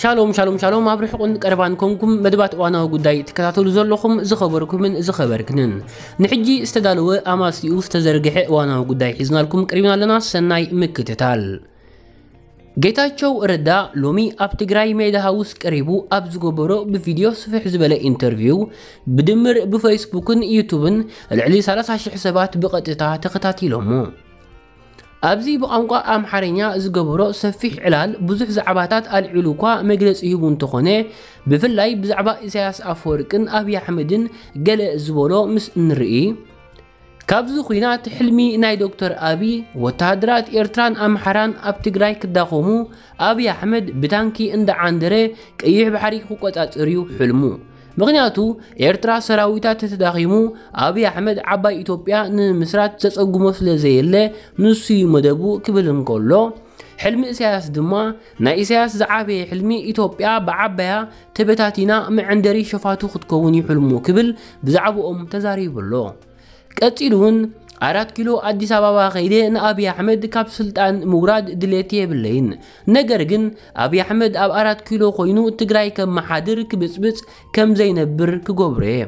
ሻሎም ሻሎም ሻሎም፣ ኣብ ርሑቕን ቀረባን ኮንኩም መደባት እዋናዊ ጉዳይ ትከታተሉ ዘለኹም ዝኸበርኩምን ዝኸበርክንን፣ ንሕጂ ዝተዳለወ ኣማስይኡ ዝተዘርግሐ እዋናዊ ጉዳይ ሒዝናልኩም ቀሪብና ኣለና። ሰናይ ምክትታል። ጌታቸው ረዳ ሎሚ ኣብ ትግራይ ሜዳ ሃውስ ቀሪቡ ኣብ ዝገበሮ ብቪድዮ ስፍሕ ዝበለ ኢንተርቪው፣ ብድምር ብፌስቡክን ዩቱብን ልዕሊ ሰላሳ ሽሕ ሰባት ብቐጥታ ተኸታቲሎሞ። ኣብዚ ብቋንቋ ኣምሓርኛ ዝገበሮ ሰፊሕ ዕላል ብዙሕ ዛዕባታት ኣልዒሉ እኳ መግለጺ ሂቡ እንተኾነ፣ ብፍላይ ብዛዕባ ኢሳያስ ኣፈወርቅን ኣብይ ኣሕመድን ገለ ዝበሎ ምስ እንርኢ፣ ካብዚ ኲናት ሕልሚ ናይ ዶክተር ኣብይ፣ ወተሃደራት ኤርትራን ኣምሓራን ኣብ ትግራይ ክዳኸሙ፣ ኣብይ ኣሕመድ ብታንኪ እንዳዓንደረ ቀይሕ ባሕሪ ክቆጻጸር እዩ ሕልሙ። ምኽንያቱ ኤርትራ ሰራዊታ ተተዳኺሙ ኣብይ ኣሕመድ ዓባይ ኢትዮጵያ ንምምስራት ዘጸግሞ ስለ ዘየለ ንሱ እዩ መደቡ ክብል እንከሎ፣ ሕልሚ ኢሳያስ ድማ ናይ ኢሳያስ ዝዓበየ ሕልሚ ኢትዮጵያ ብዓባያ ተበታቲና መዐንደሪ ሸፋቱ ክትከውን እዩ ሕልሙ ክብል ብዛዕባኦም ተዛሪቡ ኣሎ። ቀጺሉ እውን ኣራት ኪሎ ኣዲስ ኣበባ ከይደ ንኣብይ ኣሕመድ ካብ ስልጣን ምውራድ ድሌት የብለይን፣ ነገር ግን ኣብይ ኣሕመድ ኣብ ኣራት ኪሎ ኮይኑ ትግራይ ከመሓድር ክብጽብጽ ከም ዘይነብር ክገብሮ እየ።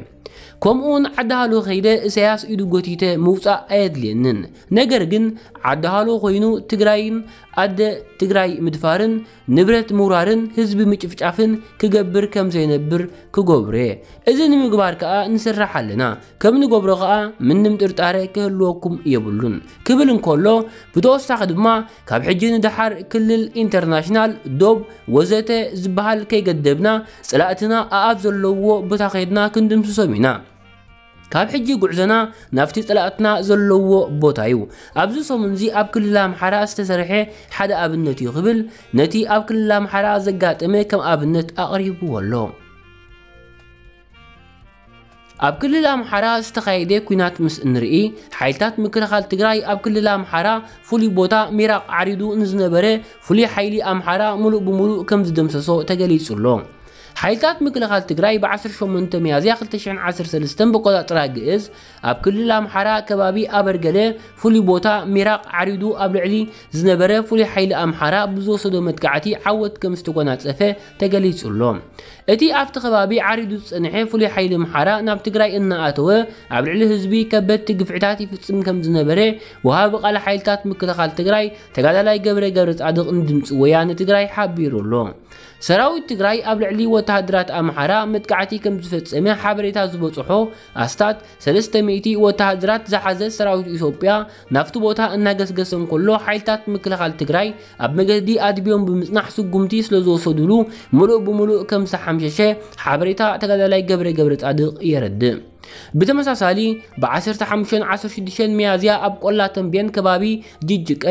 ከምኡውን ዓዲ ሃሎ ከይደ ኢሳያስ ኢዱ ጎቲተ ምውጻእ ኣየድልየንን፣ ነገር ግን ዓዲ ሃሎ ኮይኑ ትግራይን ኣደ ትግራይ ምድፋርን ንብረት ምውራርን ህዝቢ ምጭፍጫፍን ክገብር ከም ዘይነብር ክገብሮ እየ። እዚ ንምግባር ከኣ ንስራሕ ኣለና። ከም ንገብሮ ከኣ ምንም ጥርጣረ ክህልወኩም የብሉን ክብል እንከሎ፣ ብተወሳኺ ድማ ካብ ሕጂ ንደሓር ክልል፣ ኢንተርናሽናል፣ ዶብ ወዘተ ዝበሃል ከይገደብና፣ ጸላእትና ኣኣብ ዘለውዎ ቦታ ከይድና ክንድምስሶም ኢና። ካብ ሕጂ ጉዕዞና ናብቲ ጸላእትና ዘለዎ ቦታ እዩ። ኣብዚ ሰሙንዚ ኣብ ክልል ኣምሓራ ዝተሰርሐ ሓደ ኣብነት እዩ ክብል ነቲ ኣብ ክልል ኣምሓራ ዘጋጠመ ከም ኣብነት ኣቕሪብዎ ኣሎ። ኣብ ክልል ኣምሓራ ዝተኻየደ ኲናት ምስ እንርኢ፣ ሓይልታት ምክልኻል ትግራይ ኣብ ክልል ኣምሓራ ፍሉይ ቦታ ሚራቕ ዓሪዱ ንዝነበረ ፍሉይ ሓይሊ ኣምሓራ ሙሉእ ብሙሉእ ከም ዝደምሰሶ ተገሊጹ ኣሎ። ሓይልታት ምክልኻል ትግራይ ብ ዓሰርተ ሸሞንተ ሚያዝያ ክልተ ሽሕን ዓሰርተ ሰለስተን ብቆጻጽራ ግእዝ ኣብ ክልል ኣምሓራ ከባቢ ኣበርገለ ፍሉይ ቦታ ሚራቕ ዓሪዱ ኣብ ልዕሊ ዝነበረ ፍሉይ ሓይሊ ኣምሓራ ብዝወሰዶ መጥቃዕቲ ዓወት ከም ዝተጎናጸፈ ተገሊጹ ኣሎ። እቲ ኣብቲ ከባቢ ዓሪዱ ዝጸንሐ ፍሉይ ሓይሊ ኣምሓራ ናብ ትግራይ እናኣተወ ኣብ ልዕሊ ህዝቢ ከበድቲ ግፍዕታት ይፍጽም ከም ዝነበረ ወሃቢ ቃል ሓይልታት ምክልኻል ትግራይ ተጋዳላይ ገብረ ገብረ ጻድቕ ንድምፂ ወያነ ትግራይ ሓቢሩ ኣሎ። ሰራዊት ትግራይ ኣብ ልዕሊ ወተሃደራት ኣምሓራ መጥቃዕቲ ከም ዝፈጸመ ሓበሬታ ዝበጽሖ ኣስታት ሰለስተ ሚእቲ ወተሃደራት ዝሓዘ ሰራዊት ኢትዮጵያ ናብቲ ቦታ እናገስገሰ እንከሎ፣ ሓይልታት ምክልኻል ትግራይ ኣብ መገዲ ኣድብዮም ብምጽናሕ ስጉምቲ ስለ ዝወሰዱሉ፣ ምሉእ ብምሉእ ከም ዝተሓምሸሸ ሓበሬታ ተጋዳላይ ገብረ ገብረ ጻድቕ የረድእ። ብተመሳሳሊ፣ ብ ዓሰርተ ሓሙሽተን ዓሰርተ ሽዱሽተን ሚያዝያ ኣብ ቆላ ተንቤን ከባቢ ጅጅቀ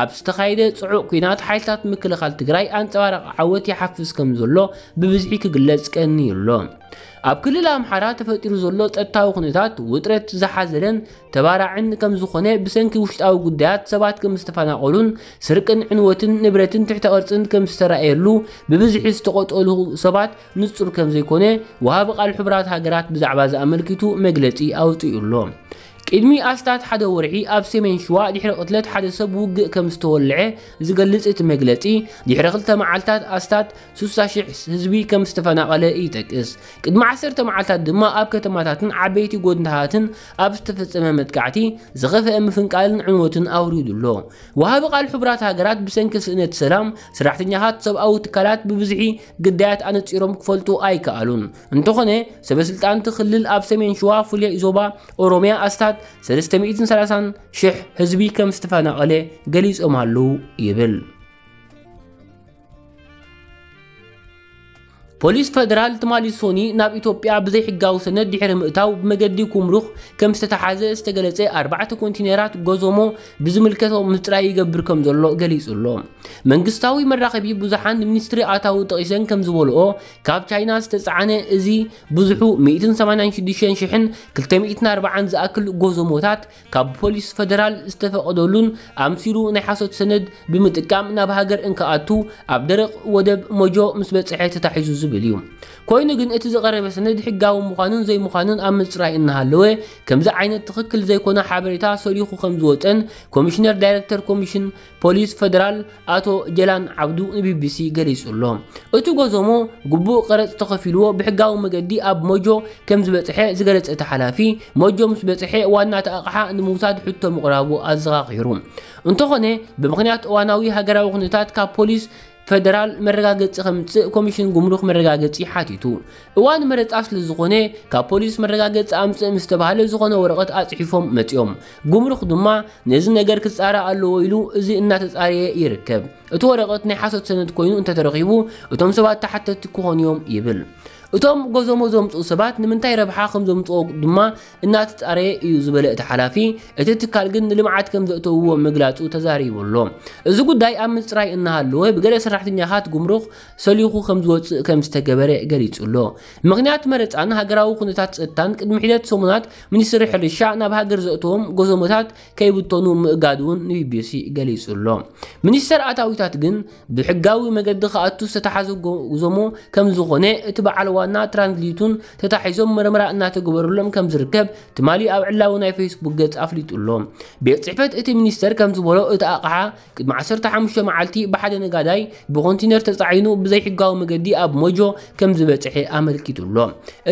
ኣብ ዝተኻየደ ጽዑቕ ኲናት ሓይልታት ምክልኻል ትግራይ ኣንጸባራቒ ዓወት ይሓፍስ ከም ዘሎ ብብዝሒ ክግለጽ ቀንዩ ኣሎ። ኣብ ክልል ኣምሓራ ተፈጢሩ ዘሎ ጸጥታዊ ኩነታት ውጥረት ዝሓዘለን ተባራዕን ከም ዝኾነ፣ ብሰንኪ ውሽጣዊ ጉዳያት ሰባት ከም ዝተፈናቐሉን ስርቅን ዕንወትን ንብረትን ትሕተ ቅርጽን ከም ዝተራእየሉ ብብዝሒ ዝተቖጠሉ ሰባት ንጹር ከም ዘይኮነ ወሃቢ ቃል ሕቡራት ሃገራት ብዛዕባ እዚ ኣመልኪቱ መግለጺ ኣውጺኡ ኣሎ። ቅድሚ ኣስታት ሓደ ወርሒ ኣብ ሰሜን ሽዋ ድሕሪ ቅትለት ሓደ ሰብ ውግእ ከም ዝተወልዐ ዝገልጽ እቲ መግለጺ፣ ድሕሪ ክልተ መዓልታት ኣስታት ስሳ ሽሕ ህዝቢ ከም ዝተፈናቐለ ይጠቅስ። ቅድሚ ዓሰርተ መዓልታት ድማ ኣብ ከተማታትን ዓበይቲ ጎደናታትን ኣብ ዝተፈጸመ መጥቃዕቲ ዝኸፍአ ምፍንቃልን ዕንወትን ኣውሪዱ ኣሎ። ወሃቢ ቃል ሕቡራት ሃገራት ብሰንኪ ስእነት ሰላም፣ ሰራሕተኛታት ሰብኣዊ ትካላት ብብዝሒ ግዳያት ኣነጺሮም ክፈልጡ ኣይከኣሉን። እንተኾነ፣ ሰበ ስልጣን እቲ ክልል ኣብ ሰሜን ሽዋ ፍሉይ ዞባ ኦሮሚያ ኣስታት ሰለስተ ሚእትን ሰላሳን ሽሕ ህዝቢ ከም ዝተፈናቐለ ገሊጾም ኣለዉ ይብል። ፖሊስ ፈደራል ትማሊ ሶኒ ናብ ኢትዮጵያ ብዘይሕጋዊ ሰነድ ድሕሪ ምእታው ብመገዲ ኩምሩክ ከም ዝተተሓዘ ዝተገለጸ ኣርባዕተ ኮንቲነራት ጎዞሞ ብዝምልከቶ ምጽራይ ይገብር ከም ዘሎ ገሊጹ ኣሎ። መንግስታዊ መራኸቢ ብዙሓን ንሚኒስትሪ ኣታዊ ጠቒሰን ከም ዝበልኦ፣ ካብ ቻይና ዝተጻዕነ እዚ ብዙሑ ሚእትን ሰማንያን ሽዱሽተን ሽሕን ክልተ ሚእትን ኣርባዓን ዝኣክል ጎዞሞታት ካብ ፖሊስ ፈደራል ዝተፈቐደሉን ኣምሲሉ ናይ ሓሶት ሰነድ ብምጥቃም ናብ ሃገር እንክኣቱ ኣብ ደረቕ ወደብ ሞጆ ምስ በጽሐ ተታሒዙ ዝብል እዩ። ኮይኑ ግን እቲ ዝቐረበ ሰነድ ሕጋዊ ምዃኑን ዘይምዃኑን ኣብ ምፅራይ እናሃለወ፣ ከምዚ ዓይነት ትኽክል ዘይኮነ ሓበሬታ ሰሊኹ ከም ዝወፀን ኮሚሽነር ዳይሬክተር ኮሚሽን ፖሊስ ፌደራል ኣቶ ጀላን ዓብዱ ንቢቢሲ ገሊጹ ኣሎ። እቲ ጎዞሞ ግቡእ ቀረጽ ተኸፊልዎ ብሕጋዊ መገዲ ኣብ ሞጆ ከም ዝበጽሐ ዝገለጸ እቲ ሓላፊ፣ ሞጆ ምስ በጽሐ ዋና እቲ ኣቕሓ ንምውሳድ ሕቶ ምቕራቡ ኣዘኻኺሩ። እንተኾነ፣ ብምኽንያት እዋናዊ ሃገራዊ ኩነታት ካብ ፖሊስ ፌደራል መረጋገጺ ከምጽእ ኮሚሽን ጉምሩክ መረጋገጺ ሓቲቱ። እዋን መረጻ ስለ ዝኾነ፣ ካብ ፖሊስ መረጋገጺ ኣምጽእ ምስ ተባህለ ዝኾነ ወረቐት ኣጽሒፎም መጺኦም። ጉምሩክ ድማ ነዚ ነገር ክጻረ ኣለዎ ኢሉ እዚ እናተጻረየ ይርከብ። እቲ ወረቐት ናይ ሓሶት ሰነድ ኮይኑ እንተተረኺቡ፣ እቶም ሰባት ተሓተትቲ ክኾኑ እዮም ይብል። እቶም ጎዞሞ ዘምጽኡ ሰባት ንምንታይ ረብሓ ከም ዘምጽኦ ድማ እናተጻረየ እዩ ዝበለ እቲ ሓላፊ፣ እቲ ትካል ግን ንልምዓት ከም ዘእተውዎ ምግላጹ ተዛሪቡ ኣሎ። እዚ ጉዳይ ኣብ ምጽራይ እናሃለወ፣ ብገለ ሰራሕተኛታት ጉምሩክ ሰሊኹ ከም ዝወጽእ ከም ዝተገበረ ገሊጹ ኣሎ። ምኽንያት መረጻን ሃገራዊ ኩነታት ጸጥታን ቅድሚ ሒደት ሰሙናት ሚኒስትሪ ሕርሻ ናብ ሃገር ዘእተዎም ጎዞሞታት ከይብተኑ ምእጋዱ እውን ንቢቢሲ ገሊጹ ኣሎ። ሚኒስተር ኣታዊታት ግን ብሕጋዊ መገዲ ክኣቱ ዝተታሓዘ ጎዞሞ ከም ዝኾነ እቲ በዓል ዋና ትራንዝሊቱን ተታሒዞም መርመራ እናተገበረሎም ከም ዝርከብ ትማሊ ኣብ ዕላዊ ናይ ፌስቡክ ገጽ ኣፍሊጡ ኣሎ። ቤት ጽሕፈት እቲ ሚኒስተር ከም ዝበሎ እቲ ኣቕሓ ቅድሚ ዓሰርተ ሓሙሽተ መዓልቲ ብሓደ ነጋዳይ ብኮንቲነር ተጻዒኑ ብዘይሕጋዊ መገዲ ኣብ ሞጆ ከም ዝበጽሐ ኣመልኪቱ ኣሎ።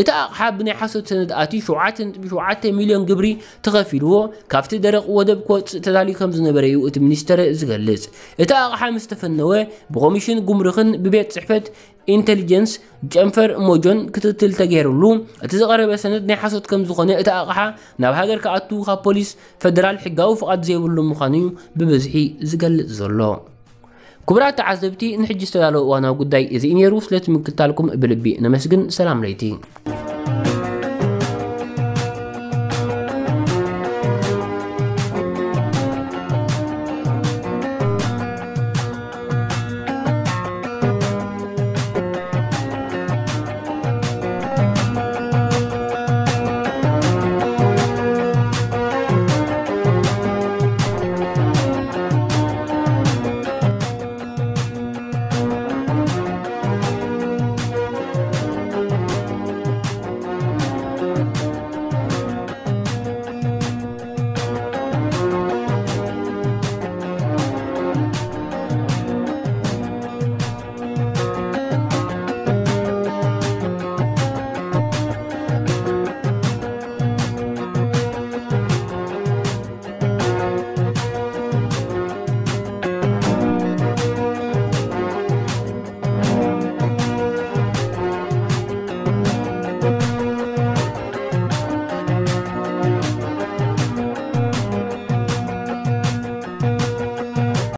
እቲ ኣቕሓ ብናይ ሓሶት ሰነድ ኣትዩ ሸውዓተ ነጥቢ ሸውዓተ ሚልዮን ግብሪ ተኸፊልዎ ካብቲ ደረቕ ወደብ ክወጽእ ተዳልዩ ከም ዝነበረ እዩ እቲ ሚኒስተር ዝገልጽ። እቲ ኣቕሓ ምስ ተፈነወ ብኮሚሽን ጉምሩክን ብቤት ጽሕፈት ኢንተሊጀንስ ጨንፈር ሞጆን ክትትል ተገይሩሉ፣ እቲ ዝቐረበ ሰነድ ናይ ሓሶት ከም ዝኾነ እቲ ኣቕሓ ናብ ሃገር ክኣቱ ካብ ፖሊስ ፌደራል ሕጋዊ ፍቓድ ዘይብሉ ምዃኑ እዩ ብብዝሒ ዝገልጽ ዘሎ። ክቡራት ተዓዘብቲ፣ ንሕጂ ዝተዳለወ እዋናዊ ጉዳይ እዚ እዩ ነይሩ። ስለቲ ምክትታልኩም ብልቢ ነመስግን። ሰላም ለይቲ።